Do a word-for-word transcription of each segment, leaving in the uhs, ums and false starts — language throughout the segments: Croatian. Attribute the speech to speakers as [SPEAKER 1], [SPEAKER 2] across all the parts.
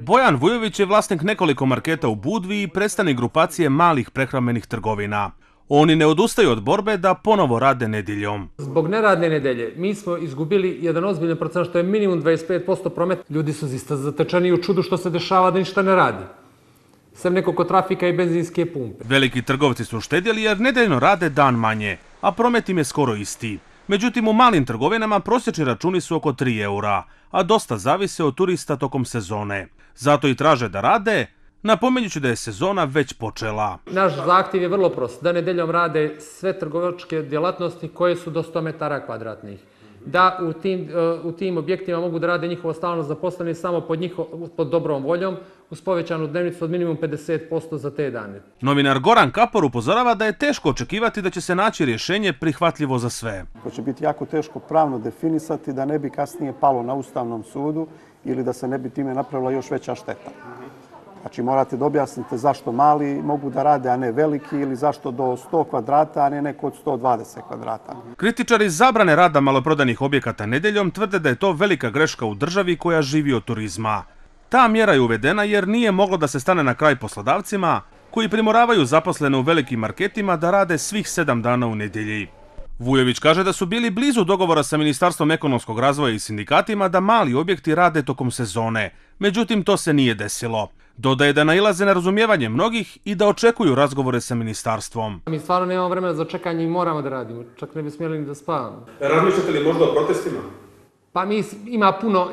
[SPEAKER 1] Bojan Vujović je vlasnik nekoliko marketa u Budvi i predstavnik grupacije malih prehrambenih trgovina. Oni ne odustaju od borbe da ponovo rade nedjeljom.
[SPEAKER 2] Zbog neradne nedelje mi smo izgubili jedan ozbiljan procent, što je minimum dvadeset pet posto prometa. Ljudi su zista zatečeni u čudu što se dešava da ništa ne radi. Sem nekoliko trafika i benzinske pumpe.
[SPEAKER 1] Veliki trgovci su štedjeli jer nedeljno rade dan manje, a promet im je skoro isti. Međutim, u malim trgovinama prosječni računi su oko tri eura, a dosta zavise od turista tokom sezone. Zato i traže da rade, napominjući da je sezona već počela.
[SPEAKER 2] Naš zahtjev je vrlo prost, da nedeljom rade sve trgovačke djelatnosti koje su do sto metara kvadratnih. Da u tim, u tim objektima mogu da rade njihovo stalno zaposleni samo pod, njiho, pod dobrom voljom, uz povećanu dnevnicu od minimum pedeset posto za te dane.
[SPEAKER 1] Novinar Goran Kapor upozorava da je teško očekivati da će se naći rješenje prihvatljivo za sve.
[SPEAKER 3] To će biti jako teško pravno definisati da ne bi kasnije palo na Ustavnom sudu ili da se ne bi time napravila još veća šteta. Znači morate da objasnite zašto mali mogu da rade, a ne veliki, ili zašto do sto kvadrata, a ne neko od sto dvadeset kvadrata.
[SPEAKER 1] Kritičari zabrane rada maloprodajnih objekata nedeljom tvrde da je to velika greška u državi koja živi od turizma. Ta mjera je uvedena jer nije moglo da se stane na kraj poslodavcima koji primoravaju zaposlene u velikim marketima da rade svih sedam dana u nedjelji. Vujović kaže da su bili blizu dogovora sa Ministarstvom ekonomskog razvoja i sindikatima da mali objekti rade tokom sezone, međutim to se nije desilo. Dodaje da nailaze na razumijevanje mnogih i da očekuju razgovore sa ministarstvom.
[SPEAKER 2] Mi stvarno nemamo vremena za čekanje i moramo da radimo, čak ne bi smjeli ni da spavamo.
[SPEAKER 1] Razmišljate li možda o protestima?
[SPEAKER 2] Pa mi, ima puno,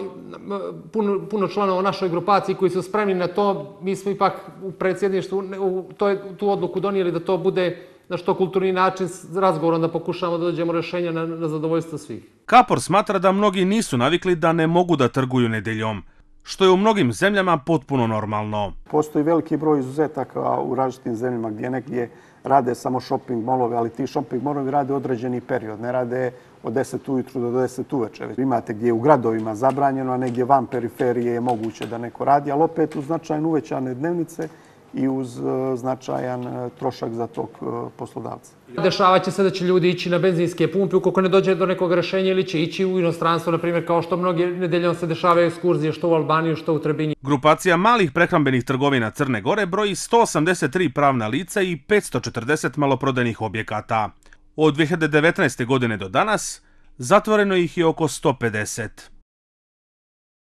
[SPEAKER 2] puno, puno članova u našoj grupaciji koji su spremni na to. Mi smo ipak u predsjedništvu u to, tu odluku donijeli da to bude na što kulturni način s razgovorom, da pokušamo da dođemo rješenja na, na zadovoljstvo svih.
[SPEAKER 1] Kapor smatra da mnogi nisu navikli da ne mogu da trguju nedeljom, što je u mnogim zemljama potpuno normalno.
[SPEAKER 3] Postoji veliki broj izuzetaka u različitim zemljama gdje negdje rade samo shopping molove, ali ti shopping molovi rade određeni period, ne rade od deset ujutru do deset uveče. Imate gdje je u gradovima zabranjeno, a negdje van periferije je moguće da neko radi, ali opet uz značajno uvećane dnevnice i uz značajan trošak za tog poslodavca.
[SPEAKER 2] Dešavaće se da će ljudi ići na benzinske pumpe ukoliko ne dođe do nekog rješenja, ili će ići u inostranstvo, na primjer, kao što mnogi nedeljom se dešavaju ekskurzije što u Albaniju, što u Trebinju.
[SPEAKER 1] Grupacija malih prehrambenih trgovina Crne Gore broji sto osamdeset tri pravna lica i petsto četrdeset maloprodajnih objekata. Od dvije hiljade devetnaeste. godine do danas zatvoreno ih je oko sto pedeset.